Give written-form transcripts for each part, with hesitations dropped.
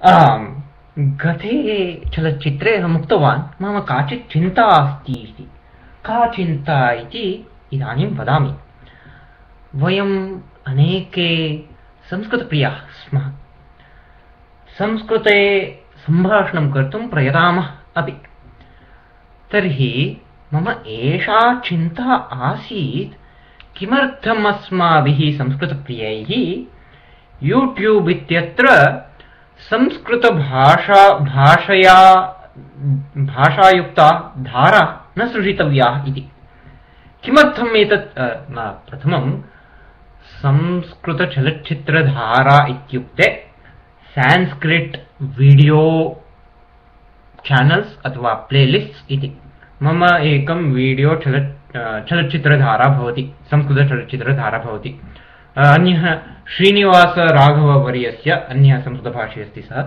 आम्, गते चलच्चित्रे अहम् उक्तवान् मम काचित् चिन्ता अस्ति इति। का चिन्ता इति इदानीं वदामि। वयम् अनेके संस्कृतप्रियाः स्मः। संस्कृते सम्भाषणं कर्तुं प्रयतामः अपि। तर्हि मम एषा चिन्ता आसीत्, किमर्थम् अस्माभिः संस्कृतप्रियैः यूट्यूब् इत्यत्र भाषायुक्ता धारा न सृजितव्या इति। किमर्थम् एतत्? प्रथमं संस्कृतचलच्चित्रधारा इत्युक्ते संस्कृत वीडियो चैनल्स् अथवा प्लेलिस्ट्स् इति। मम एकं वीडियो चलच्चित्रधारा भवति, संस्कृतचलच्चित्रधारा भवति। अन्यः श्रीनिवासराघववर्यस्य अन्यः संस्कृतभाषी अस्ति सः,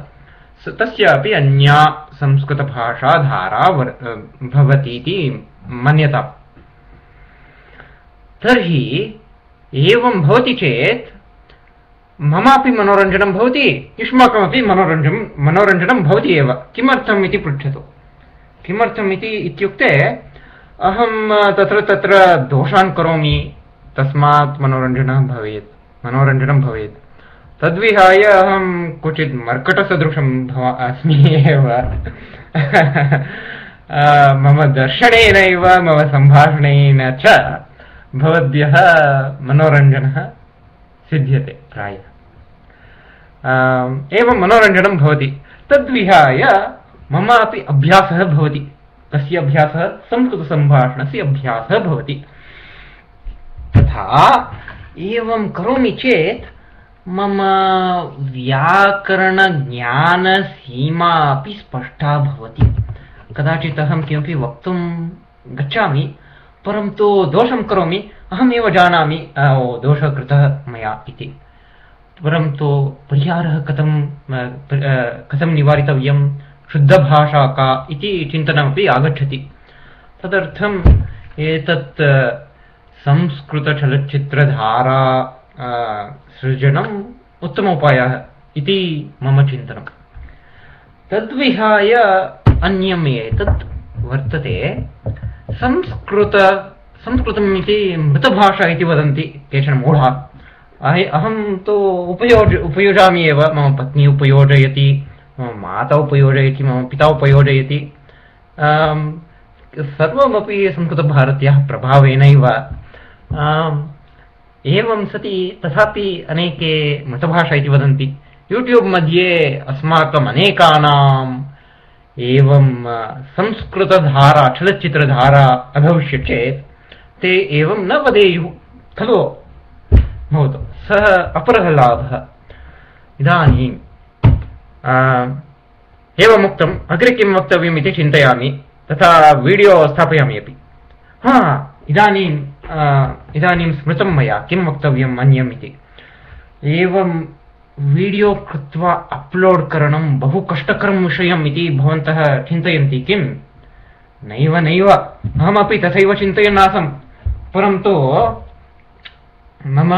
तस्यापि अन्या संस्कृतभाषाधारा भवति इति मन्यता। तर्हि एवं भवति चेत् ममापि मनोरञ्जनं भवति, युष्माकमपि मनोरञ्जनं भवति एव। किमर्थम् इति पृच्छतु। किमर्थम् इत्युक्ते अहं तत्र दोषान् करोमि, तस्मात् मनोरञ्जनं भवेत्। तद्विहाय अहं क्वचित् मर्कटसदृशम् अस्मि एव। मम दर्शनेनैव मम सम्भाषणेन च भवद्भ्यः मनोरञ्जनः सिद्ध्यते प्रायः। एवं मनोरञ्जनं भवति। तद्विहाय मम अपि अभ्यासः भवति। कस्य अभ्यासः? संस्कृतसम्भाषणस्य अभ्यासः भवति। तथा एवं करोमि चेत् मम व्याकरणज्ञानसीमा अपि स्पष्टा भवति। कदाचित् अहं किमपि वक्तुं गच्छामि, परन्तु दोषं करोमि, अहमेव जानामि दोषः कृतः मया इति। परन्तु परिहारः कथं निवारितव्यं, शुद्धभाषा का इति चिन्तनमपि आगच्छति। तदर्थम् एतत् संस्कृतचलच्चित्रधारा सृजनम् उत्तमोपायः इति मम चिन्तनं। तद्विहाय अन्यम् एतत् वर्तते, संस्कृतम् इति मृतभाषा इति वदन्ति केचन मूढाः। अहं तु उपयोजामि एव। मम पत्नी उपयोजयति, मम माता उपयोजयति, मम पिता उपयोजयति। सर्वमपि संस्कृतभारत्याः प्रभावेनैव। एवं सति तथापि अनेके मृतभाषा इति वदन्ति। यूट्यूब् मध्ये अस्माकम् अनेकानाम् एवं संस्कृतधारा चलच्चित्रधारा अभविष्यत् चेत् ते एवं न वदेयुः खलु। भवतु, सः अपरः लाभः। इदानीम् एवमुक्तम्, अग्रे किं वक्तव्यम् इति चिन्तयामि, तथा वीडियो स्थापयामि अपि। इदानीं स्मृतं मया किं वक्तव्यम् अन्यम् इति। एवं वीडियो कृत्वा अप्लोड् करणं बहु कष्टकरं विषयम् इति भवन्तः चिन्तयन्ति किम्? नैव, अहमपि तथैव चिन्तयन् आसम्। परन्तु मम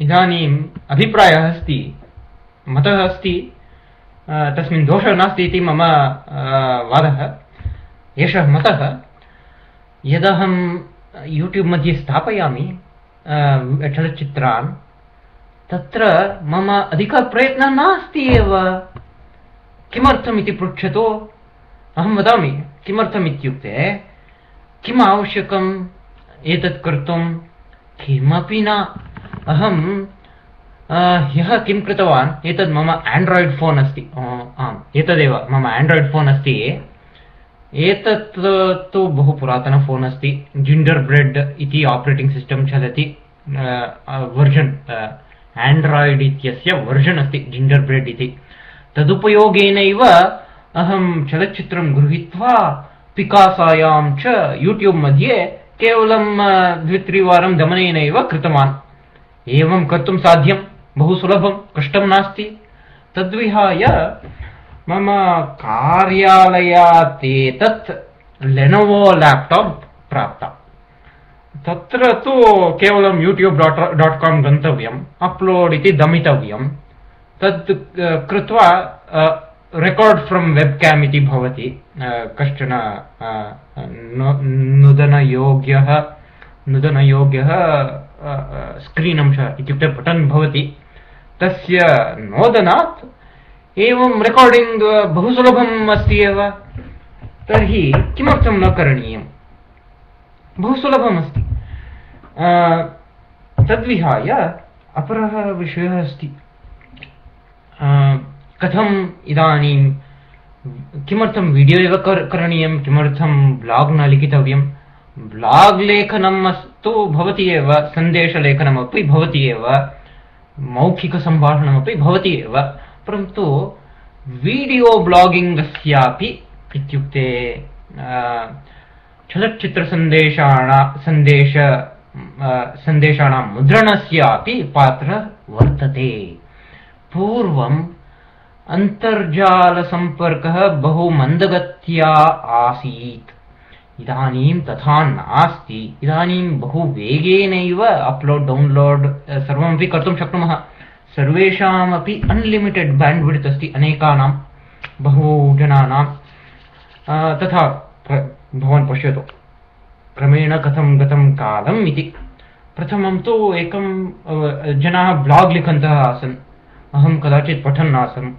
इदानीम् अभिप्रायः अस्ति, मतः अस्ति, तस्मिन् दोषः नास्ति इति मम वादः। एषः मतः, यदहं यूट्यूब् मध्ये स्थापयामि चलच्चित्रान्, तत्र मम अधिकप्रयत्नः नास्ति एव। किमर्थम् इति पृच्छतु। अहं वदामि किमर्थम् इत्युक्ते, किम् आवश्यकम् एतत् कर्तुं? किमपि न। अहं ह्यः किं कृतवान्, एतद् मम आण्ड्राय्ड् फोन् अस्ति। आम्, एतदेव मम आण्ड्राय्ड् फोन् अस्ति। एतत् तु बहु पुरातन फोन् अस्ति। जिंजर् ब्रेड् इति आपरेटिंग् सिस्टम् चलति। वर्जन् आण्ड्राय्ड् इत्यस्य वर्जन् अस्ति जिंजर् ब्रेड् इति। तदुपयोगेनैव अहं चलच्चित्रं गृहीत्वा पिकासायां च यूट्यूब् मध्ये केवलं 2-3 वारं दमनेनैव कृतवान्। एवं कर्तुं साध्यं, बहु सुलभं, कष्टं नास्ति। तद्विहाय मम कार्यालयात् एतत् लेनोवो लैपटॉप प्राप्ता। तत्र तु केवलं youtube.com गन्तव्यम्, अपलोड् इति दमितव्यम्, तत् कृत्वा रेकॉर्ड फ्रॉम वेबकैम इति भवति कश्चन नुदनयोग्यः स्क्रीन अंश इत्युक्ते बटन भवति तस्य नोदनात् एवं रेकॉर्डिंग बहु सुलभम् अस्ति एव तर्हि किमर्थं न करणीयम् बहु सुलभम् अस्ति तद्विहाय अपरः विषयः अस्ति कथम् इदानीं किमर्थं वीडियो एव करणीयं किमर्थं ब्लॉग न लिखितव्यं ब्लॉग लेखनम् अस्तु भवति एव सन्देशलेखनमपि भवति एव मौखिकसम्भाषणमपि भवति एव परन्तु वीडियो ब्लॉगिंग अस्यापि इत्युक्ते सन्देशानां मुद्रणस्यापि पात्रः वर्तते पूर्वम् अन्तर्जालसम्पर्कः बहु मन्दगत्या आसीत् इदानीं तथा नास्ति इदानीं बहु वेगेनैव अपलोड डाउनलोड सर्वमपि कर्तुं शक्नुमः सर्वेषामपि अनलिमिटेड बैंडविड्थ अस्ति अनेकानां बहु जनानां तथा भवान् पश्यतु क्रमेण कथं गतं कालम् इति प्रथमं तु एकं जनाः ब्लॉग लिखन्तः आसन् अहं कदाचित् पठन् आसम्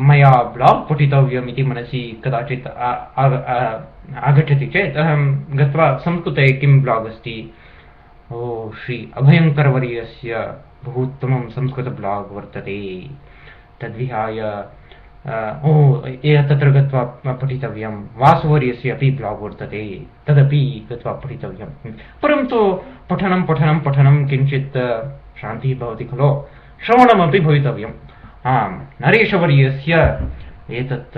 मया ब्लॉग पठितव्यम् इति मनसि कदाचित् आगच्छति चेत् अहं गत्वा संस्कृते किं ब्लॉग अस्ति ओ श्री अभयङ्करवर्यस्य बहु उत्तमं संस्कृत ब्लॉग वर्तते तद्विहाय तत्र गत्वा पठितव्यं वासुवर्यस्य अपि ब्लॉग वर्तते तदपि गत्वा पठितव्यं परन्तु पठनं किञ्चित् शान्तिः भवति खलु श्रवणमपि भवितव्यम् नरेशवर्यस्य एतत्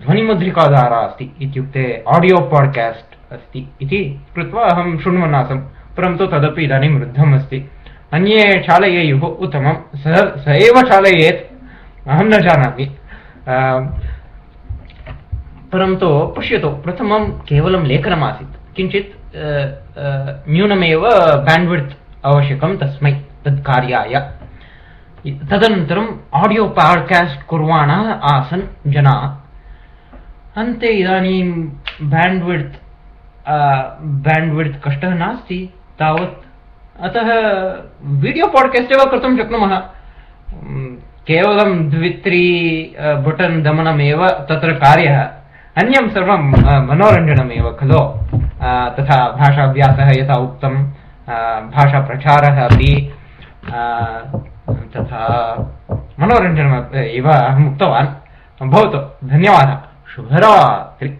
ध्वनिमुद्रिकाधारा अस्ति इत्युक्ते ऑडियो पॉडकास्ट अस्ति इति कृत्वा अहं शृण्वन् आसम् परन्तु तदपि इदानीं रुद्धम् अस्ति अन्ये चालयेयुः उत्तमं स एव चालयेत् अहं न जानामि परन्तु पश्यतु प्रथमं केवलं लेखनमासीत् किञ्चित् न्यूनमेव बैंडविड्थ आवश्यकं तस्मै तत्कार्याय तदनन्तरम् ऑडियो पॉडकास्ट कुर्वाणः आसन् जनाः अन्ते इदानीं बैंडविड्थ कष्टः नास्ति तावत् अतः वीडियो पॉडकास्ट एव कर्तुं शक्नुमः केवलं 2-3 बटन दमनमेव तत्र कार्यः अन्यं सर्वं मनोरञ्जनमेव खलु तथा भाषाभ्यासः यथा उक्तं भाषाप्रचारः अपि तथा मनोरञ्जनम् एव अहम् उक्तवान् भवतु धन्यवादः शुभरात्रि।